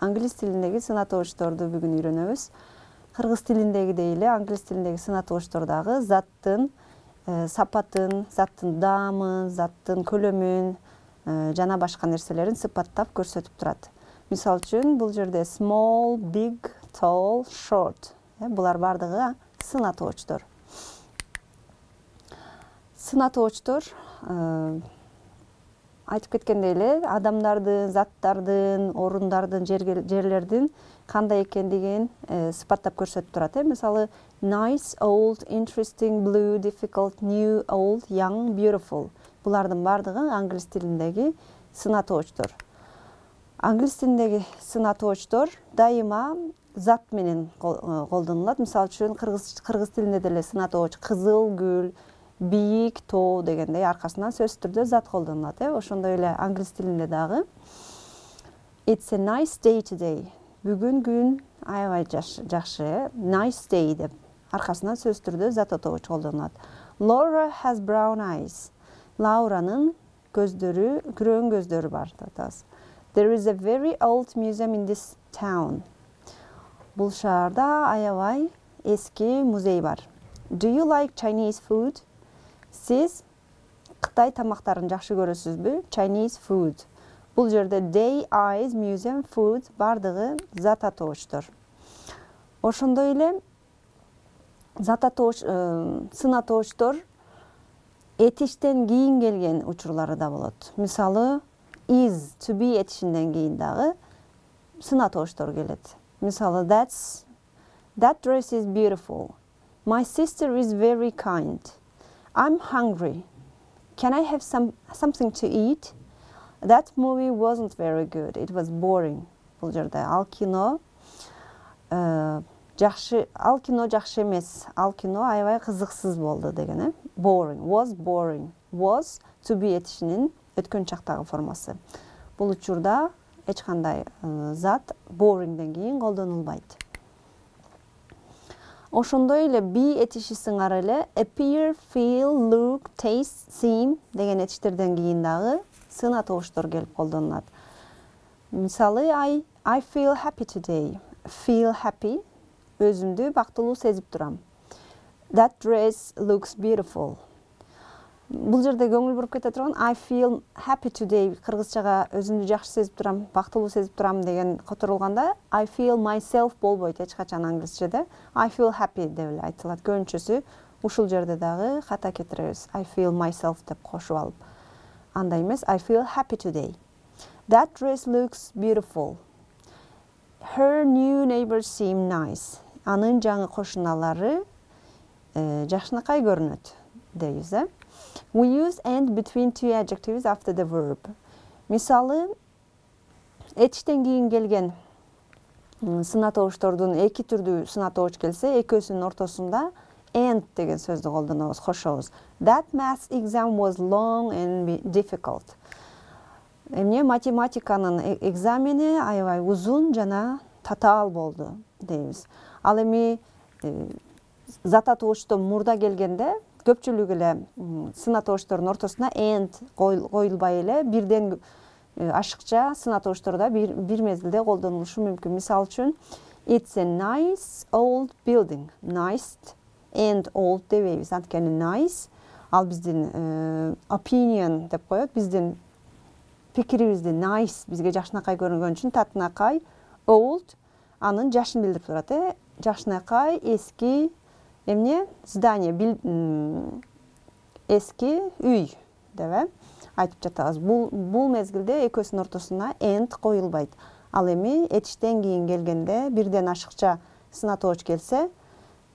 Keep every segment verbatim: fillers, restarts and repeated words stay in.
англис тилиндеги сынатыгычторду бүгүн үйрөнөбүз. Кыргыз тилиндегидей эле англис тилиндеги сынатыгычтор дагы заттын сапатын, заттын даамын, заттын көлөмүн жана башка нерселерин сыпаттап көрсөтүп турат. Мисалы үчүн бул жерде small, big, tall, short. Булар бардыгы сынатыгычтор. Сынатыгычтор айтып кеткендей эле адамдардын, заттардын, орундардын, жерлердин кандай экендигин сыпаттап көрсөтүп турат. Мисалы nice, old, interesting, blue, difficult, new, old, young, beautiful. Булардын бардыгы англис тилиндеги сынатыгычтор. Англис тилиндеги сынатыгычтор дайыма зат менен колдонулат. Мисалы үчүн кыргыз тилинде деле сынатыгыч кызыл гүл, бийик тоо дегендей аркасынан сөзсүз түрдө зат колдонулат. Ошондой эле англис тилинде дагы It's a nice day today. Бүгүн күн аябай жакшы. Nice day деп аркасынан сөзсүз түрдө зат атоогуч колдонулат. Laura has brown eyes. Лауранын көздөрү, күрөң көздөрү бар деп атабыз. There is a very old museum in this town. Бул шаарда аябай эски музей бар. Do you like Chinese food? Сиз Кытай тамактарын жакшы көрөсүзбү? Chinese food. Бул жерде day, eyes, museum, food бардыгы зат атоочтор. Ошондой эле зат атооч, сын атоочтор этиштен кийин келген учурлары да болот. Мисалы is, to be этишинден кийин дагы сын атоочтор келет. Мисалы that's that dress is beautiful. My sister is very kind. I'm hungry. Can I have some something to eat? That movie wasn't very good. It was boring. Бул жерде ал кино жакшы, ал кино жакшы эмес. Ал кино аябай кызыксыз болду деген, э? Boring. Was boring. Was to be этишинин өткөн чактагы формасы. Бул учурда эч кандай зат boringден кийин колдонулбайт. Ошондой эле be этиши сыңары эле appear, feel, look, taste, seem деген этиштерден кийин дагы сын атоочтор келип колдонулат. Мисалы I I feel happy today. Feel happy өзүмдү бактылуу сезип турам. That dress looks beautiful. Бул жерде көңүл буруп кете турган I feel happy today кыргызчага өзүмдү жакшы сезип турам, бактылуу сезип турам деген которулганда I feel myself болбойт эч качан англисчеде. I feel happy деп эле айтылат. Көбүнчөсү ушул жерде дагы ката кетиребиз. I feel myself деп кошуп алып. Андай эмес I feel happy today. That dress looks beautiful. Her new neighbors seem nice. Анын жаңы кошуналары жакшынакай көрүнөт дейбиз, э? We use and between two adjectives after the verb. Мисалы, этиштен кийин келген сын атоочтордун эки түрдүү сын атооч келсе, экөөсүнүн ортосунда and деген сөздү колдонобуз, кошобуз. That math exam was long and difficult. Эмне математиканын экзамени аябай узун жана татаал болду дейбиз. Ал эми зат атоочтон мурда келгенде көпчүлүк эле сын атоочтордун ортосуна and коюлбай эле бирден ашыкча сын атоочторда бир, бир мезгилде колдонулушу мүмкүн. Мисалы үчүн It's a nice old building. Nice and old дебейбиз. Анткени nice ал биздин opinion деп коет. Биздин пикирибизди nice бизге жакшынакай көрүнгөн үчүн татынакай, old анын жашын билдирип турат, э? Жакшынакай, эски эмне здание, эски үй деп айтып жатабыз. Бул бул мезгилде экөөсүнүн ортосуна and коюлбайт. Ал эми этиштен кийин келгенде бирден ашыкча сын атооч келсе,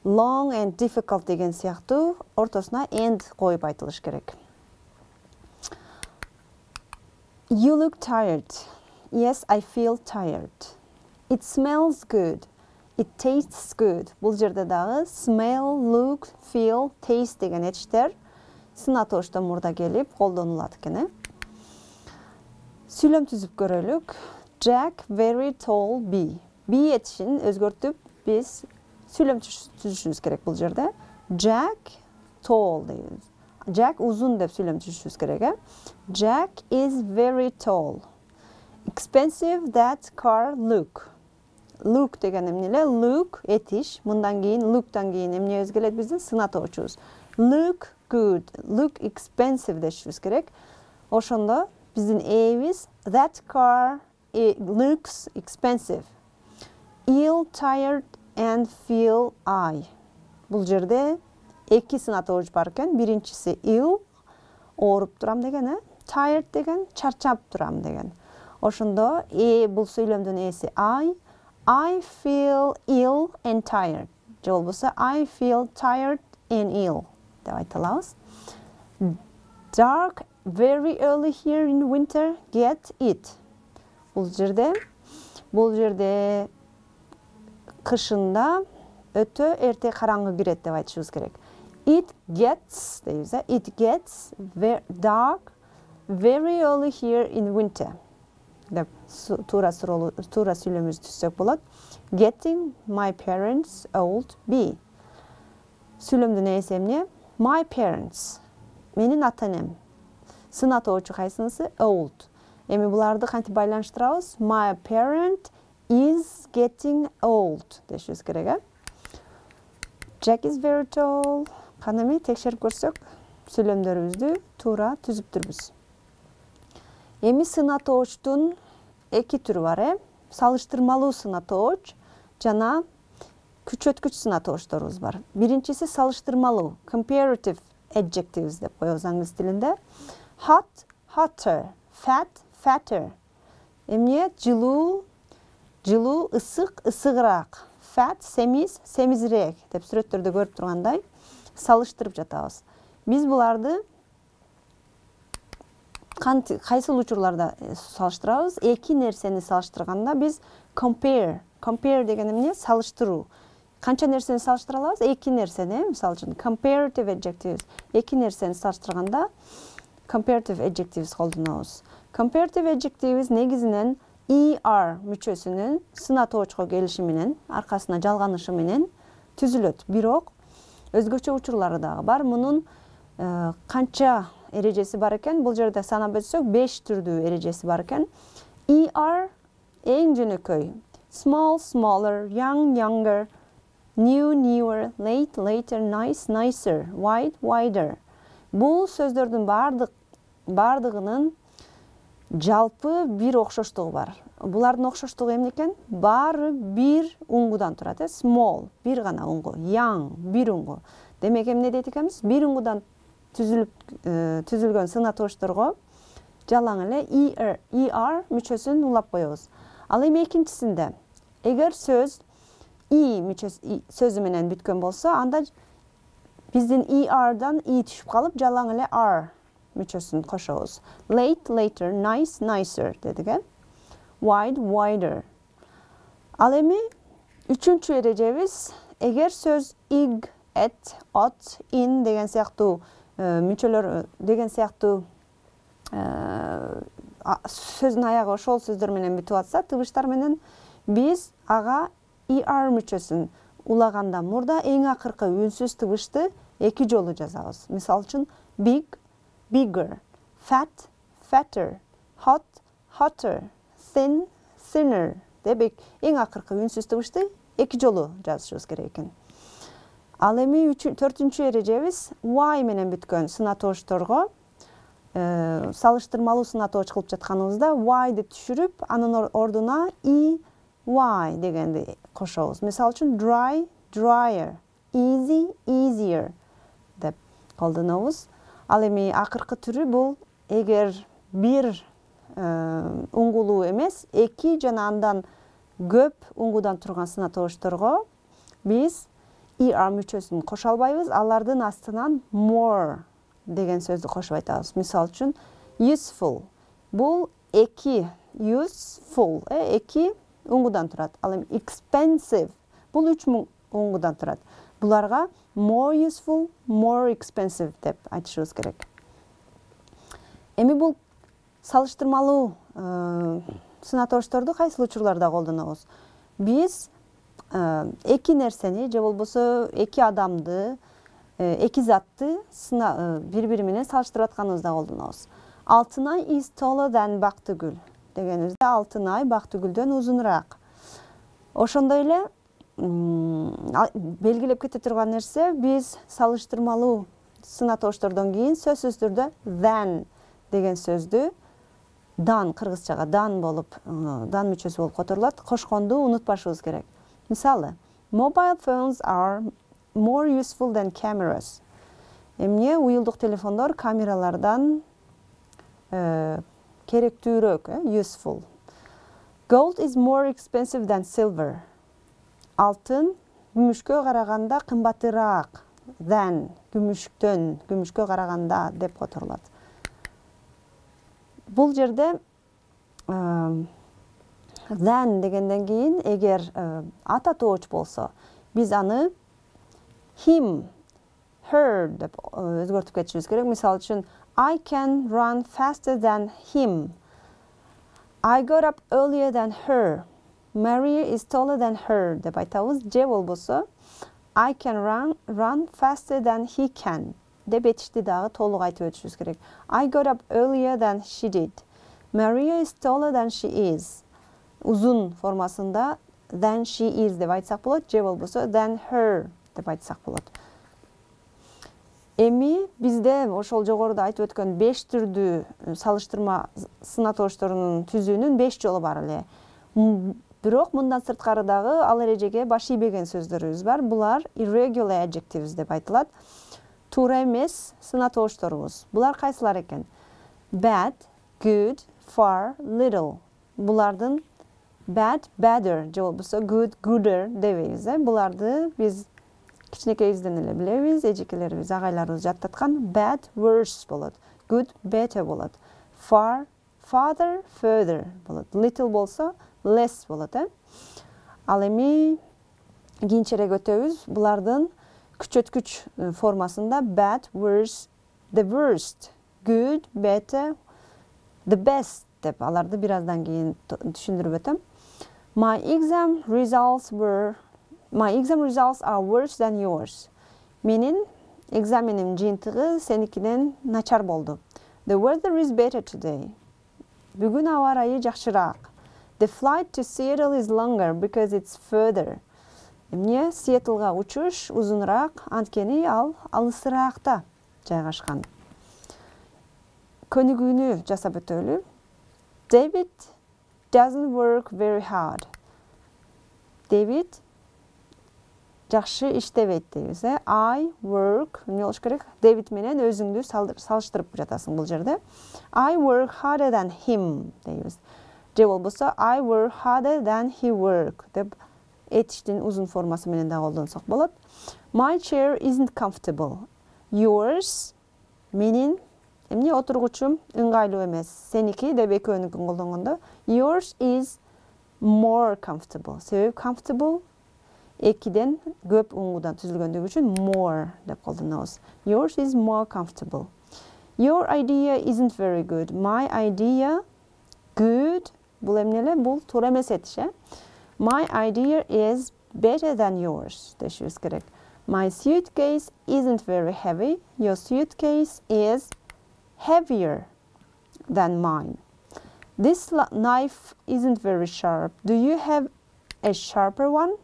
long and difficult деген сыяктуу ортосуна and коюп айтылыш керек. You look tired. Yes, I feel tired. It smells good. It tastes good. Бул жерде дагы smell, look, feel, taste деген этиштер сын атоочтон мурда келип колдонулат экен, э? Сүйлөм түзүп көрөлүк. Jack very tall bee. Bee этишин өзгөртүп биз сүйлөм түзүшүбүз керек бул жерде. Jack tall дейбиз. Jack узун деп сүйлөм түзүшүбүз керек, э? Jack is very tall. Expensive that car look. Look деген эмне эле? Look этиш. Мындан кийин look'тан кийин эмне өзгөрөт биздин сынатоочубуз. Look good. Look expensive дешибиз керек. Ошондо биздин эбиз that car looks expensive. Ill, tired and feel I. Бул жерде эки сынатооч бар экен. Биринчиси ill, ооруп турам деген, э? Tired деген чарчап турам деген. Ошондо э бул сүйлөмдүн эси I. I feel ill and tired. Же болбосо I feel tired and ill деп айта алабыз. Dark very early here in winter, get it. Бул жерде бул жерде кышында өтө эрте караңгы кирет деп айтышыбыз керек. It gets дейбиз, э? It gets very dark very early here in winter. Деп туура суроолуу туура сүйлөмүбүздү түзсөк болот. Getting my parents old be. Сүйлөмдүн эси эмне? My parents. Менин ата-энем. Сынатоочу кайсынысы? Old. Эми буларды кантип байланыштырабыз? My parent is getting old дешибиз керек, э? Jack is very tall. Кана эми текшерип көрсөк, сүйлөмдөрүбүздү туура түзүптүрбүз. Эми сынатоочтун эки түрү бар, э? Салыштырмалуу сынатооч жана күчөткүч сынатоочторубуз бар. Биринчиси салыштырмалуу, comparative adjectives деп коебуз англис тилинде. Hot, hotter, fat, fatter. Эмне? Жылуу, жылуу, ысык, ысыгыраак. Fat, семиз, семизирээк деп сүрөттөрдө көрүп тургандай салыштырып жатабыз. Биз буларды кайсыл учурларда салыштырабыз? Эки нерсени салыштырганда биз compare, compare деген эмне? Салыштыруу. Канча нерсени салыштыра алабыз? Эки нерсени, мисалы үчүн comparative adjectives. Эки нерсени салыштырганда comparative adjectives колдонобуз. Comparative adjectives негизинен er мүчөсүнүн сынатоочко келиши менен, аркасына жалганышы менен түзүлөт. Бирок өзгөчө учурлары дагы бар. Мунун канча эрежеси бар экен? Бул жерде санап өтсөк, беш түрдүү эрежеси бар экен. Er эң жөнөкөй. Small, smaller, young, younger, new, newer, late, later, nice, nicer, wide, wider. Бул сөздөрдүн бардык бардыгынын жалпы бир окшоштугу бар. Булардын окшоштугу эмне экен? Баары бир уңгудан турат, э? Small, бир гана уңгу, young, бир уңгу. Демек эмне дейт экенбиз? Бир уңгудан түзүлүп түзүлгөн сынатоочторго жалаң эле er, er мүчөсүн улап коебуз. Ал эми экинчисинде эгер сөз i мүчөсү сөзү менен бүткөн болсо, анда биздин er'дан i түшүп калып, жалаң эле r мүчөсүн кошобуз. Late, later, nice, nicer дедик, э? Wide, wider. Ал эми үчүнчү эрежебиз, эгер сөз ig, at, at, in деген сыяктуу мүчөлөр деген сыяктуу сөздүн аягы ошол сөздөр менен бүтүп атса, тыбыштар менен биз ага er мүчөсүн улаганда мурда эң акыркы үнсүз тыбышты эки жолу жазабыз. Мисалы үчүн big, bigger, fat, fatter, hot, hotter, thin, thinner деп эң акыркы үнсүз тыбышты эки жолу жазышыбыз керек экен. Ал эми төртүнчү эрежебиз y менен бүткөн сынатоочторго салыштырмалуу сынатооч кылып жатканыбызда y'ды түшүрүп, анын ордуна i, y дегенди кошобуз. Мисалы үчүн dry, drier, easy, easier деп колдонобуз. Ал эми акыркы түрү бул эгер бир уңгулуу эмес, эки жана андан көп уңгудан турган сынатоочторго биз er мүчөсүн кошо албайбыз, алардын астынан more деген сөздү кошуп айтабыз. Мисалы үчүн useful. Бул эки useful, э, эки уңгудан турат. Ал эми expensive. Бул үч уңгудан турат. Буларга more useful, more expensive деп айтышыбыз керек. Эми бул салыштырмалуу сынатоочторду кайсыл учурларда колдонобуз? Биз эки нерсени же болбосо эки адамды, эки затты бири-бири менен салыштырып атканыбызда колдонобуз. Алтынай is taller than Бактыгүл. дегенибизде алтын ай бактыгүлдөн узунураак. Ошондой эле белгилеп кете турган нерсе, биз салыштырмалуу сына тооштордон кийин сөзсүз түрдө than деген сөздү дан, кыргызчага дан болуп, дан мүчөсү болуп которулат. Кошконду унутпашыбыз керек. Мисалы, mobile phones are more useful than cameras. Эмне уюлдук телефондор камералардан керектүүрөөк, useful. Gold is more expensive than silver. Алтын күмүшкө караганда кымбатыраак than, күмүштөн, күмүшкө караганда деп которулат. Бул жерде than дегенден кийин эгер ата тооч болсо, биз аны him, her деп өзгөртүп кетишибиз керек. Мисалы үчүн I can run faster than him. I got up earlier than her. Maria is taller than her деп айтабыз. Же болбосо I can run run faster than he can деп этишти дагы толук айтып өтүшүбүз керек. I got up earlier than she did. Maria is taller than she is. Узун формасында than she is деп айтсак болот, же болбосо than her деп айтсак болот. Эми бизде ошол жогоруда айтып өткөн беш түрдүү салыштырма сына тоошторунун түзүүнүн беш жолу бар эле. Бирок мындан сырткары дагы ал эрежеге баш ийбеген сөздөрүбүз бар. Булар irregular adjectives деп айтылат. Туура эмес сына тоошторубуз. Булар кайсылар экен? Bad, good, far, little. Булардын bad, badder, же болбосо good, gooder дебейбиз. Буларды биз кичинекейибизден эле билебиз, эжекелерибиз, агайларыбыз жаттаткан. Bad, worse болот. Good, better болот. Far, farther, further болот. Little болсо less болот. Ал эми кийинчерээк өтөбүз. Булардын күчөткүч формасында bad, worse, the worst, good, better, the best деп аларды бир аздан кийин түшүндүрүп өтөм. My exam results were My exam results are worse than yours. Менин экзаменим жыйынтыгы сеникиден начар болду. The weather is better today. Бүгүн аба ырайы жакшыраак. The flight to Seattle is longer because it's further. Эмне Сиэтлга учуш узунураак, анткени ал алысыраакта жайгашкан. Көнүгүүнү жасап өтөлү. David doesn't work very hard. David жакшы иштебейт дейбиз. I work, эмне болуш керек? David менен өзүңдү салыштырып жатасың бул жерде. I work harder than him дейбиз. Же болбосо I work harder than he work деп этиштин узун формасы менен да колдонсок болот. My chair isn't comfortable. Yours, менин эмне отургучум ыңгайлуу эмес. Сеники деп экөөнүкүн колдонгондо yours is more comfortable. Себеби comfortable экиден көп уңгудан түзүлгөндүгү үчүн more деп колдонобуз. Yours is more comfortable. Your idea isn't very good. My idea good. Бул эмнеле? Бул туура эмес этиш, э? My idea is better than yours дешибиз керек. My suitcase isn't very heavy. Your suitcase is heavier than mine. This knife isn't very sharp. Do you have a sharper one?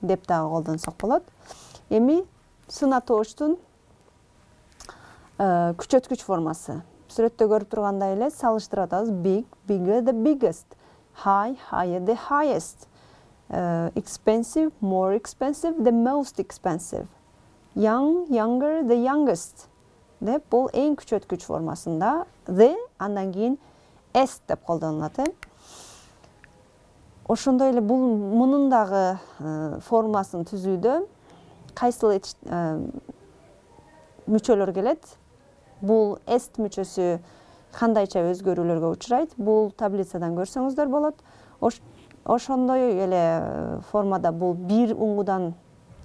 Деп дагы колдонсок болот. Эми сына тооштун күчөткүч формасы. Сүрөттө көрүп тургандай эле салыштырып атабыз. Big, bigger, the biggest. High, higher, the highest. Uh, expensive, more expensive, the most expensive. Young, younger, the youngest. Деп бул эң күчөткүч формасында the андан кийин s деп колдонулат. Ошондой эле бул мунун дагы формасын түзүүдө кайсыл мүчөлөр келет? Бул s мүчөсү кандайча өзгөрүүлөргө учурайт? Бул таблицадан көрсөңүздөр болот. Ошондой эле формада бул бир уңгудан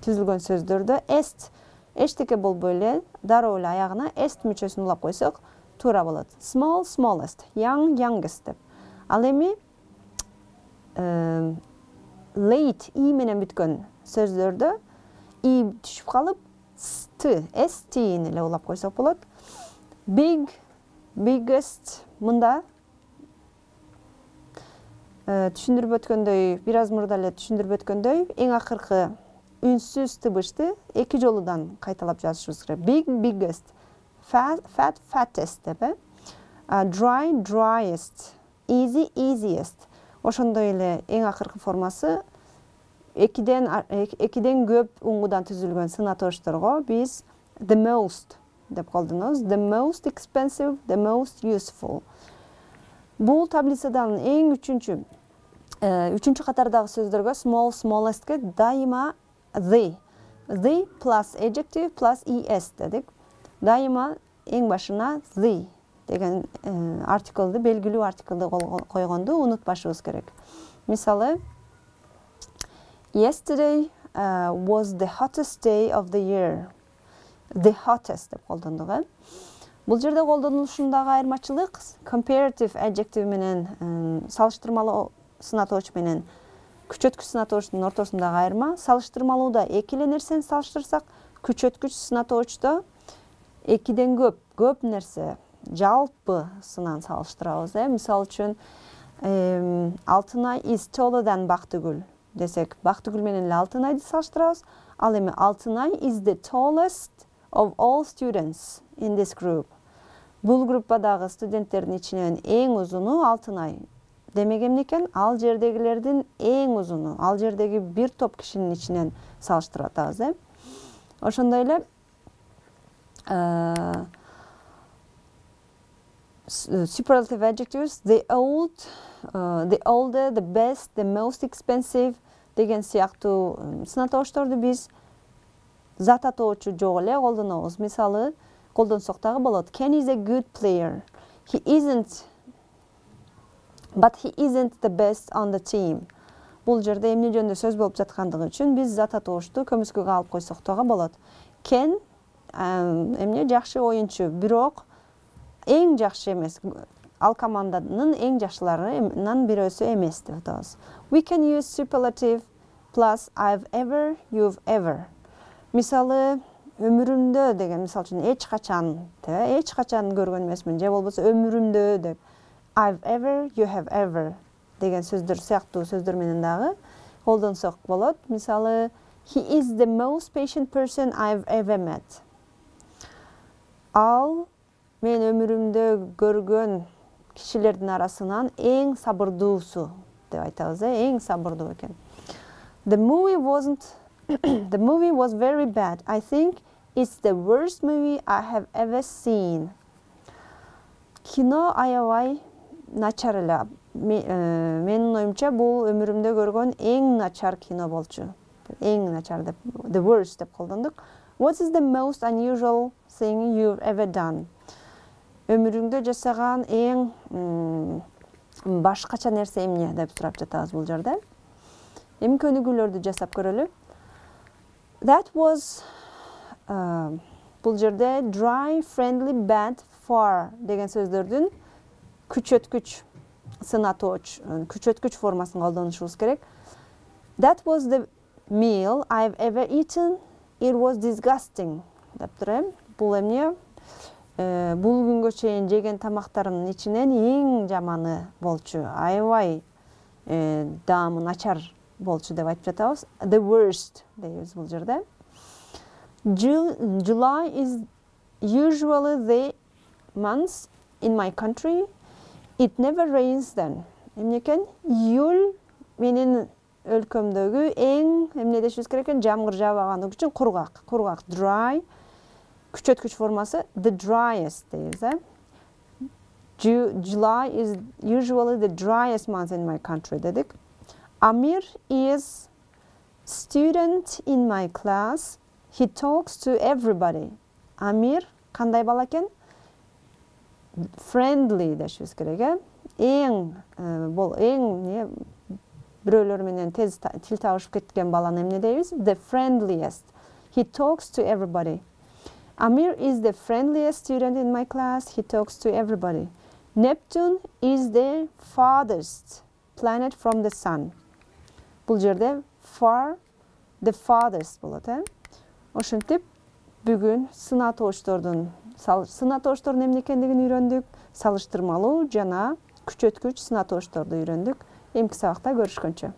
түзүлгөн сөздөрдө s эчтеке болбой эле дароо эле аягына s мүчөсүн улап койсок туура болот. Small, smallest, young, youngest деп. Ал эми late и менен бүткөн сөздөрдө и түшүп калып st, st-ни эле улап койсок болот. Big, biggest мында түшүндүрүп өткөндөй, бир аз мурда эле түшүндүрүп өткөндөй, эң акыркы үнсүз тыбышты эки жолудан кайталап жазышыбыз керек. Big, biggest, fat, fat, fattest деп, э? Dry, driest, easy, easiest. Ошондой эле эң акыркы формасы экиден экиден көп уңгудан түзүлгөн сына тошторго биз the most деп колдонобуз. The most expensive, the most useful. Бул таблицадан эң үчүнчү үчүнчү катардагы сөздөргө small, smallestке дайыма the. The plus adjective plus es дедик. Дайыма эң башына the деген артиклды, белгилүү артиклды койгонду унутпашыбыз керек. Мисалы, yesterday uh, was the hottest day of the year. The hottest деп колдондук, э? Бул жерде колдонулушундагы айырмачылык comparative adjective менен салыштырмалуу сынатооч менен күчөткүч сынатоочтун ортосундагы айырма. Салыштырмалууда эки эле нерсени салыштырсак, күчөткүч сынатоочто экиден көп, көп нерсе, жалпы сынан салыштырабыз, э? Мисалы үчүн, Алтынай is taller than Бактыгүл десек, Бактыгүл менен эле Алтынайды салыштырабыз. Ал эми Алтынай is the tallest of all students in this group. Бул группадагы студенттердин ичинен эң узуну Алтынай. Демек эмне экен? Ал жердегилердин эң узуну, ал жердеги бир топ кишинин ичинен салыштырып атабыз, э? Ошондой эле superlative adjectives, the old, uh, the older, the best, the most expensive деген сыяктуу сынатоочторду биз зат атоочу жок эле колдонобуз. Мисалы, колдонсок дагы болот. Ken is a good player. He isn't, but he isn't the best on the team. Бул жерде эмне жөнүндө сөз болуп жаткандыгы үчүн биз зат атоочту көмүскөгө алып койсок дагы болот. Ken эмне жакшы оюнчу, бирок эң жакшы эмес. Ал команданын эң жакшыларынан бирөөсү эмес деп атабыз. We can use superlative plus I've ever, you've ever. Мисалы, өмүрүмдө деген, мисалы үчүн эч качан, эч качан көргөн эмесмин, же болбосо өмүрүмдө деп I've ever, you have ever деген сөздөр сыяктуу сөздөр менен дагы колдонсок болот. Мисалы, he is the most patient person I've ever met. Ал мен өмүрүмдө көргөн кишилердин арасынан эң сабырдуусу деп айтабыз, эң сабырдуу экен. The movie wasn't The movie was very bad. I think it's the worst movie I have ever seen. Кино аябай начар эле. Менин оюмча бул өмүрүмдө көргөн эң начар кино болчу. Эң начар деп, the worst деп колдондук. What is the most unusual thing you've ever done? Өмүрүңдө жасаган эң башкача нерсе эмне деп сурап жатабыз бул жерде. Эми көнүгүүлөрдү жасап көрөлү. That was uh, бул жерде dry, friendly, bad, far деген сөздөрдүн күчөткүч сынатооч, күчөткүч формасын колдонушубуз керек. That was the meal I've ever eaten. It was disgusting деп турам. Бул эмне? Бул күнгө чейин жеген тамактарымдын ичинен эң жаманы болчу. Аябай даамы начар болчу деп айтып жатабыз. The worst дейбиз бул жерде. July is usually the month in my country. It never rains then. Эмне экен? Июль менин өлкөмдөгү эң эмне дешибиз керек экен? Жамгыр жаабагандыгы үчүн кургак. Кургак, dry. Күчөткүч формасы the driest дейбиз, э? July is usually the driest month in my country дедик. Amir is student in my class. He talks to everybody. Amir кандай бала экен? Friendly дешибиз керек, э? Эң бул эң не бирөөлөр менен тез тил табышып кеткен баланы эмне дейбиз? The friendliest. He talks to everybody. Amir is the friendliest student in my class. He talks to everybody. Neptune is the farthest planet from the sun. Бул жерде far, the farthest болот, э? Ошентип бүгүн сынатоочтордун сынатоочтордун эмне экендигин үйрөндүк, салыштырмалуу жана күчөткүч сынатоочторду үйрөндүк. эмки сабакта көрүшкөнчө.